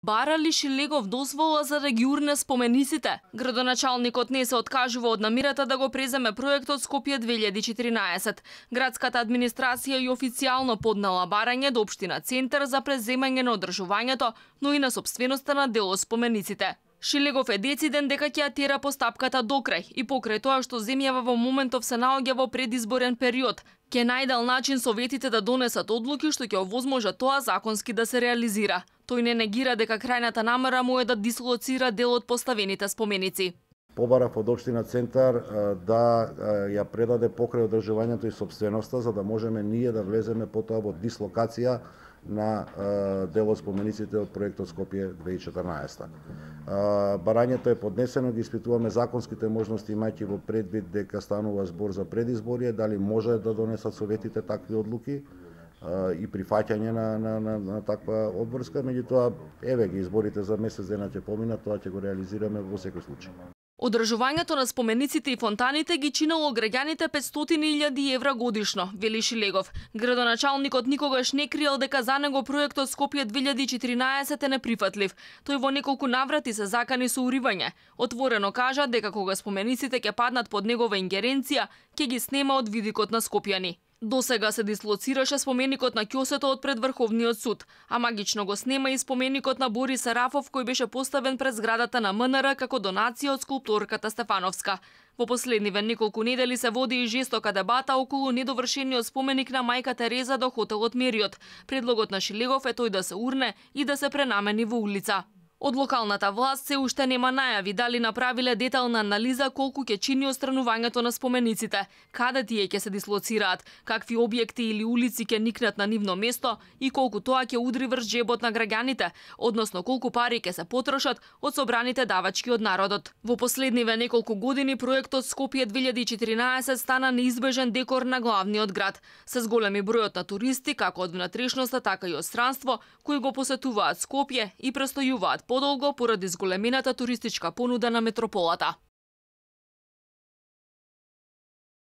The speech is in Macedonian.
Бара ли Шилегов дозвола за да ги урне спомениците? Градоначалникот не се откажува од намирата да го преземе проектот Скопје 2014. Градската администрација и официјално поднала барање до Општина Центар за преземање на одржувањето, но и на сопственоста на дел од спомениците. Шилегов е дециден дека ќе ја тера постапката докрај и покрај тоа што земјава во моментов се наоѓа во предизборен период, ќе најдел начин советите да донесат одлуки што ќе овозможат тоа законски да се реализира. Тој не негира дека крајната намера му е да дислоцира дел од поставените споменици. Побарав од Општина Центар да ја предаде покрај одржувањето и сопственоста, за да можеме ние да влеземе потоа во дислокација на дел од спомениците од проектот Скопје 2014. Барањето е поднесено, ги испитуваме законските можности, имајќи во предвид дека станува збор за предизборие, дали може да донесат советите такви одлуки и прифаќање на таква обврска, меѓутоа еве ги изборите за месец дена ќе поминат, тоа ќе го реализираме во секој случај. Одржувањето на спомениците и фонтаните ги чинело граѓаните 500.000 евра годишно, вели Шилегов. Градоначалникот никогаш не криел дека за него проектот Скопје 2014 е неприфатлив. Тој во неколку наврати се закани со уривање. Отворено кажа дека кога спомениците ќе паднат под негова ингеренција, ќе ги снема од видикот на скопјани. Досега се дислоцираше споменикот на ќосето од пред Врховниот суд, а магично го снема и споменикот на Борис Сарафов кој беше поставен пред зградата на МНР како донација од скулпторката Стефановска. Во последниве неколку недели се води и жестока дебата околу недовршениот споменик на мајка Тереза до хотелот Мериот. Предлогот на Шилегов е тој да се урне и да се пренамени во улица. Од локалната власт се уште нема најави дали направиле детална анализа колку ќе чини отстранувањето на спомениците, каде тие ќе се дислоцираат, какви објекти или улици ќе никнат на нивно место и колку тоа ќе удри врз джебот на граѓаните, односно колку пари ќе се потрошат од собраните давачки од народот. Во последниве неколку години проектот Скопје 2014 стана неизбежен декор на главниот град, се зголеми бројот на туристи како од внатрешноста, така и од странство, кои го посетуваат Скопје и престојуваат подолго поради зголемената туристичка понуда на метрополата.